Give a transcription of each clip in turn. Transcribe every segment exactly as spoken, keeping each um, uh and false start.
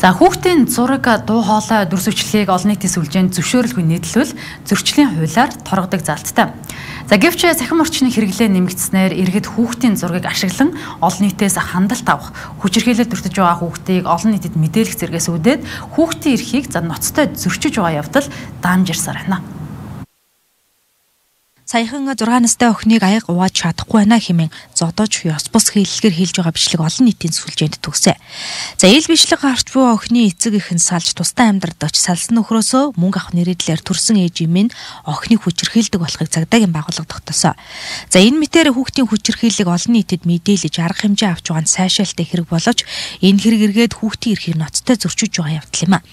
За хүүхдийн зураг дуу хоолой дүр зуршлыг олон нийтийн сүлжээнд зөвшөөрөлгүй нийтлвэл зөрчлийн хуулиар торгодог залттай. За гэвч цахим орчны хэрэглээ нэмэгдснээр иргэд хүүхдийн зургийг ашиглан олон нийтээс хандлт авах, хүчирхийлэл өртөж байгаа хүүхдийг олон нийтэд мэдээлэх зэрэгс үүдээд хүүхдийн эрхийг за ноцтой зөрчиж байгаа явдал даамжирсаар байна. Саяхан зургаан настай охиныг аяг угааж чадахгүй байна хэмээн зодож ёс бус хийлгээр хэлж байгаа бичлэг олон нийтийн сүлжээнд төгсөө. За ил бичлэг гарч буй охины эцэг эхэн салж тусдаа амьдралдагч салсан нөхрөөсөө мөнгө авах нэрээр төрсэн ээж юм нь охиныг хүчирхийлдэг болохыг цагдаагийн байгууллага тогтоосоо. За энэ мэтээр хүүхдийн хүчирхийллийг олон нийтэд мэдээлж арга хэмжээ авч байгаа нь сайшаалтай хэрэг боловч энэ хэрэг эргээд хүүхдийн эрхийг ноцтой зөрчиж байгаа явдал юм а.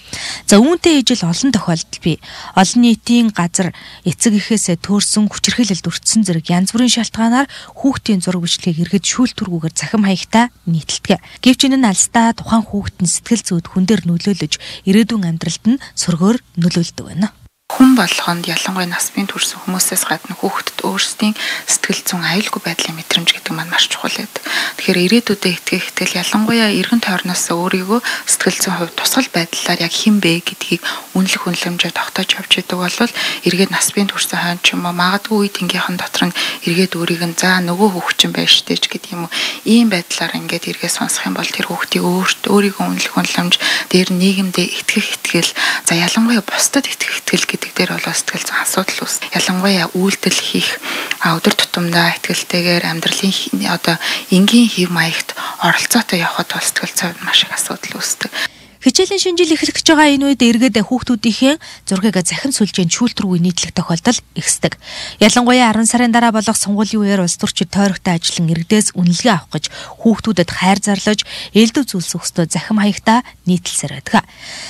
За үүнтэй ижил олон тохиолдол бий. Олон нийтийн газар эцэг эхээсээ төрсэн хүчирхийлэлд өртсөн зэрэг янз бүрийн шалтгаанаар хүүхдийн зураг бичлэгийг иргэд шүүлтүргүүгээр захим хаягтай нийтэлдэг. Гэвч энэ нь алстаа тухайн хүүхдийн сэтгэл зүйд хүн дээр нөлөөлөж ирээдүйн амьдралд нь сөргөөр нөлөөлдөг байна. Хүн болгонд ялангуяа нас бие төрсэн хүмүүсээс гадна хүүхдэд өөрсдийн сэтгэл зүйн аюулгүй байдлын мэдрэмж гэдэг маань маш чухал байдаг. Тэгэхээр ирээдүйдээ итгэх итгэл ялангуяа эргэн тойрноос өөрийгөө сэтгэл зүйн хувьд тусгал байдлаар яг хэн бэ гэдгийг үнэлэх үнэлэмжээр тогтоож явж идэг бол эргээд нас бие төрсэн хойно ч юм уу магадгүй үе тэнгийнхэн дотор нь эргээд өөрийг нь за нөгөө хүүхчин байж штэ ч гэдэг юм уу ийм байдлаар ингээд эргээд сонсох юм бол тэр хүүхдийг өөрт өөрийгөө үнэлэх үнэлэмж дээр нийгэмдээ итгэх итгэл за ялангуяа бусдад итгэх итгэл гэдэг дээр бол сэтгэл зүйн асуудал ус. Ялангуяа үйлдэл хийх өдөр тутамдаа итгэлтэйгээр амьдралын одоо энгийн хэв маягт оролцоотой явхад бол сэтгэл зүйн маш их асуудал үүсдэг. Хичээлийн шинжил эхлэх гэж байгаа энэ үед эргээд хүүхдүүдийнхээ зургийг захин сүлжээнд шүүлтүргүй нийтлэх тохиолдол ихсдэг. Ялангуяа арван сарын дараа болох сонгуулийн үеэр улс төрчид тойрогтой ажиллан иргэдээс үнэлгээ авах гэж хүүхдүүдэд хайр зарлаж элдв зүйлс өгснөө захим хаягта нийтэлсээр байдаг.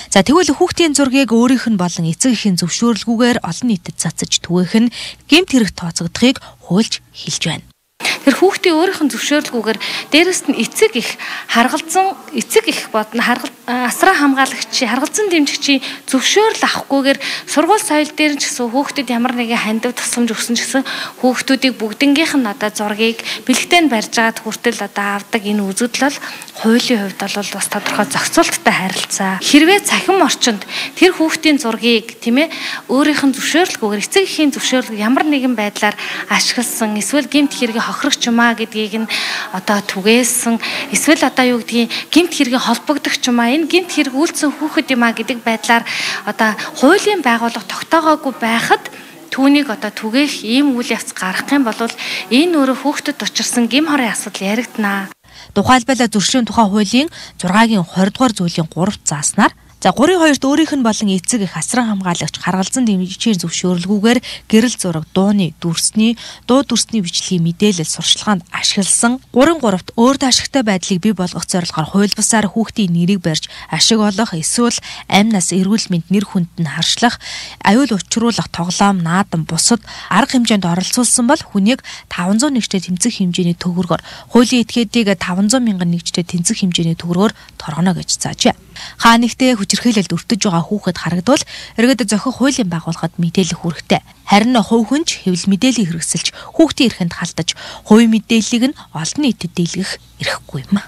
За тэгвэл хүүхдийн зургийг өөрийнх нь болон эцэг эхийн зөвшөөрлгүйгээр олон нийтэд цацаж түгээх нь гэмт хэрэг тооцогдохыг хуульч хэлж байна. Тэр хүүхдийн өөрийнх нь зөвшөөрлгүйгээр дээрэс нь эцэг их харгалзан эцэг их бодно харгал асраа хамгаалагчи харгалзан дэмжигчийн зөвшөөрөл авахгүйгээр сургууль соёл дээр ч гэсэн хүүхдэд ямар нэгэн хандив тусламж өгсөн ч гэсэн хүүхдүүдийг бүгднгийнх нь одоо зургийг бэлэгтэй нь барьж агаад хүртэл одоо авдаг энэ үзэгдэл бол хуулийн хувьд бол бас тодорхой зохицуулттай харилцаа. Хэрвээ цахим орчинд тэр хүүхдийн зургийг тийм ээ өөрийнх нь зөвшөөрлгүйгээр эцэг эхийн зөвшөөрлөг ямар нэгэн байдлаар ашигласан эсвэл гэмт хэрэг хохирогч юм а гэдгийг нь одоо түгээсэн эсвэл одоо юу гэдгийг гэмт хэрэг холбогдох юм а энэ гэмт хэрэг үйлцэн хүүхэд юм а гэдэг байдлаар одоо хуулийн байгууллага тогтоогоогүй байхад түүнийг одоо түгээх ийм үйл явц гарах юм бол энэ өөрөө хүүхдэд учирсан гэм хорын асуудал яригдана. Тухайлбал зөрчлийн тухай хуулийн зургагийн двадцать дугаар зүйлийн гурав зааснаар за гурван хоёрт өөрийнх нь болон эцэг их асран хамгаалагч харгалзан дэмжигчийн зөвшөөрлгүйгээр гэрэл зураг дууны дүрсний дуу дүрсний бичлэгийн мэдээлэл сурчлагаанд ашигласан гурван гуравт өөр ашигтай байдлыг бий болгох зорилгоор хууль бусаар хүүхдийн нэрийг барьж ашиг олох эсвэл амь нас эрүүл мэнд нэр хүнд нь харшлах аюул учруулах тоглоом наадам бусад арга хэмжээнд оролцуулсан бол хүнийг таван зуун нэгжтэй тэмцэх хэмжээний төгрөгөөр хуулийн этгээдийг таван зуун мянган нэгжтэй тэмцэх хэмжээний төгрөгөөр торгоно гэж заажээ. Хаа нэгтээ хүчирхийлэлд өртөж байгаа хүүхэд харагдвал иргэд зохих хуулийн байгууллагад мэдээлэх үүрэгтэй. Харин хувь хүнч хэвлэл мэдээллийг хэрэгсэлж хүүхдийн эрхэнд халтаж хувийн мэдээллийг нь олон нийтэд дийлгэх эрхгүй юм.